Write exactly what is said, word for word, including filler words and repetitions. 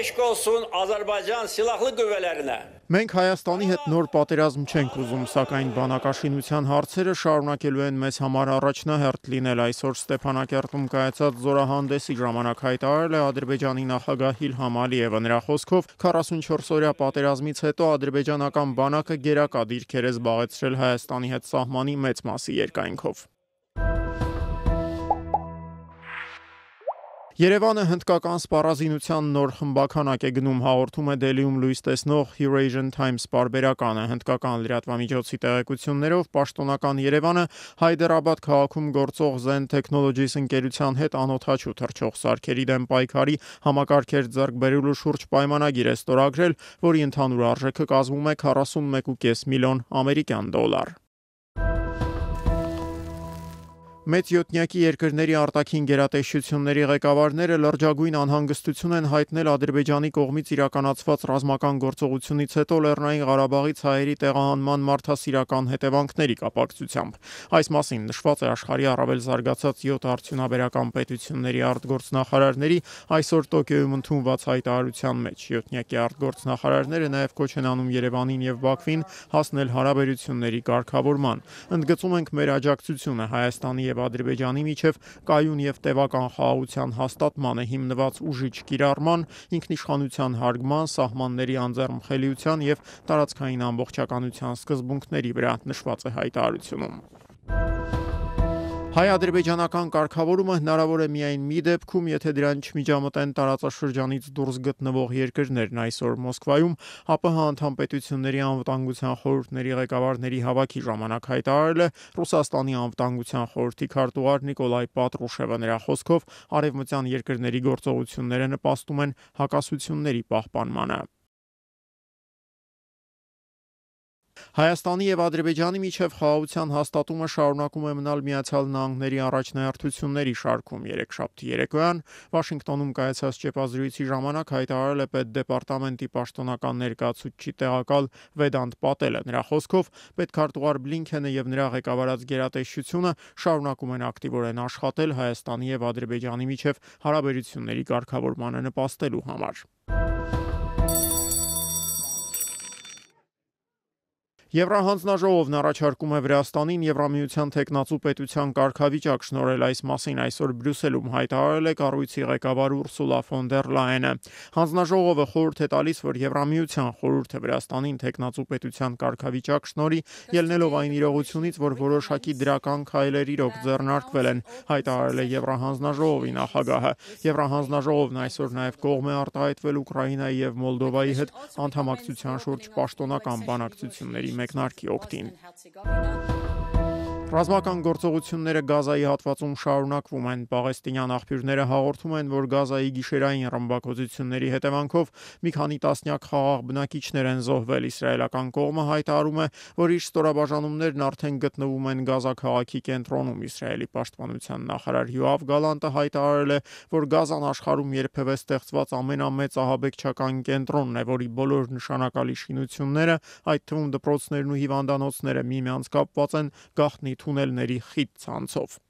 eşk olsun Azerbaycan Silahlı Qüvvələrinə. Մենք Հայաստանի հետ նոր պատերազմ չենք ուզում, սակայն բանակաշինության հարցերը շարունակելու են մեզ համար առաջնահերթ լինել։ Այսօր Ստեփանակերտում կայացած զորահանդեսի ժամանակ հայտարարել է Ադրբեջանի նախագահ Իլհամ Ալիևը։ Նրա խոսքով քառասունչորս օրյա պատերազմից հետո ադրբեջանական բանակը գերակա դիրքեր է զբաղեցրել Հայաստանի հետ սահմանի մեծ մասի երկայնքով։ Երևանը հնդկական սպառազինության նոր խմբաքանակ է գնում, հաղորդում է Դելիում լույս տեսնող Eurasian Times պարբերականը։ Հնդկական լրատվամիջոցի տեղեկություններով պաշտոնական Երևանը Հայդերաբադ քաղաքում գործող Zen Technologies ընկերության հետ անօդաչու թռչող սարքերի դեմ պայքարի համակարգեր ձեռք բերելու շուրջ պայմանագիր է ստորագրել, որի ընդհանուր արժեքը կազմում է քառասունմեկ կόμμα պենս միլիոն ամերիկյան դոլար։ Մեծ յոթնյակի երկրների արտաքին գերատեսչությունների ղեկավարները լրջագույն անհանգստություն են հայտնել Ադրբեջանի կողմից իրականացված ռազմական գործողությունից հետո Լեռնային Ղարաբաղից հայերի տեղահանման մարդասիրական հետևանքների կապակցությամբ։ Այս մասին նշված է աշխարհի առավել զարգացած յոթ արդյունաբերական պետությունների արտգործնախարարների այսօր Տոկիոյում ընդունված հայտարարության մեջ։ Յոթնյակի արտգործնախարարները նաև կոչ են անում Երևանին եւ Բաքվին հասնել հարաբերությունների կարգավորման։ Ընդգծում ենք մեր աջակցությունը Հայաստանի եւ Ադրբեջանի միջև կայուն եւ տևական խաղաղության հաստատմանը հիմնված ուժիչ կիրառման, ինքնիշխանության հարգման, սահմանների անձեռնմխելիության եւ տարածքային ամբողջականության սկզբունքների վրա, նշված է հայտարարությունում։ Հայ-ադրբեջանական կարգավորումը հնարավոր է միայն մի դեպքում, եթե դրան չմիջամտեն տարածաշրջանից դուրս գտնվող երկրներն։ Այսօր Մոսկվայում ԱՊՀ անդամ պետությունների անվտանգության խորհուրդների ղեկավարների հավաքի ժամանակ հայտարարել է Ռուսաստանի անվտանգության խորհրդի քարտուղար Նիկոլայ Պատրուշևը։ Նրա խոսքով արևմտյան երկրների գործողությունները նպաստում են հակասությունների պահպանմանը։ Հայաստանի եւ Ադրբեջանի միջև խաղաղության հաստատումը շարունակում է մնալ Միացյալ Նահանգների առաջնահերթությունների շարքում։ Երեքշաբթի երեկոյան Վաշինգտոնում կայացած ճեպազրույցի ժամանակ հայտարարել է Պետդեպարտամենտի պաշտոնական ներկայացուցիչ տեղակալ Վեդանտ Պատելը։ Նրա խոսքով պետքարտուղար Բլինքենը եւ նրա ղեկավարած գերատեսչությունը շարունակում են ակտիվորեն աշխատել Հայաստանի եւ Ադրբեջանի միջև հարաբերությունների կարգավորմանը նպաստելու համար։ Եվրահանձնաժողովն առաջարկում է Վրաստանին Եվրամիության թեկնածու պետության կարգավիճակ շնորհել։ Այս մասին այսօր Բրյուսելում հայտարարել է կառույցի ղեկավար Ուրսուլա ֆոն դեր Լայենը։ Հանձնաժողովը խորհուրդ է տալիս, որ Եվրամիության խորհուրդը Վրաստանին թեկնածու պետության կարգավիճակ շնորհի, ելնելով այն իրողությունից, որ որոշակի դրական քայլեր իրոք ձեռնարկվել են, հայտարարել է Եվրահանձնաժողովի նախագահը։ Եվրահանձնաժողովն այսօր նաև կողմ է արտահայտվել Ուկրաինայի եւ Մոլդովայի հետ անդամակցության շուրջ պաշտոնական բանակցությունների մեկնարկի օգտին։ Ռազմական գործողությունները Գազայի հատվածում շարունակվում են։ Պաղեստինյան աղբյուրները հաղորդում են, որ Գազայի գիշերային ռմբակոծությունների հետևանքով մի քանի տասնյակ խաղաղ բնակիչներ են զոհվել։ Իսրայելական կողմը հայտարարում է, որ իր ստորաբաժանումներն արդեն գտնվում են Գազա քաղաքի կենտրոնում։ Իսրայելի պաշտպանության նախարար Յոավ Գալանտը հայտարարել է, որ Գազան աշխարհում երբևէ ստեղծված ամենամեծ ահաբեկչական կենտրոնն է, որի բոլոր նշանակալի շինությունները, այդ թվում դպրոցներն ու հիվանդանոցները, միմյանց կապված են գաղտնի թունելների խիտ ցանցով։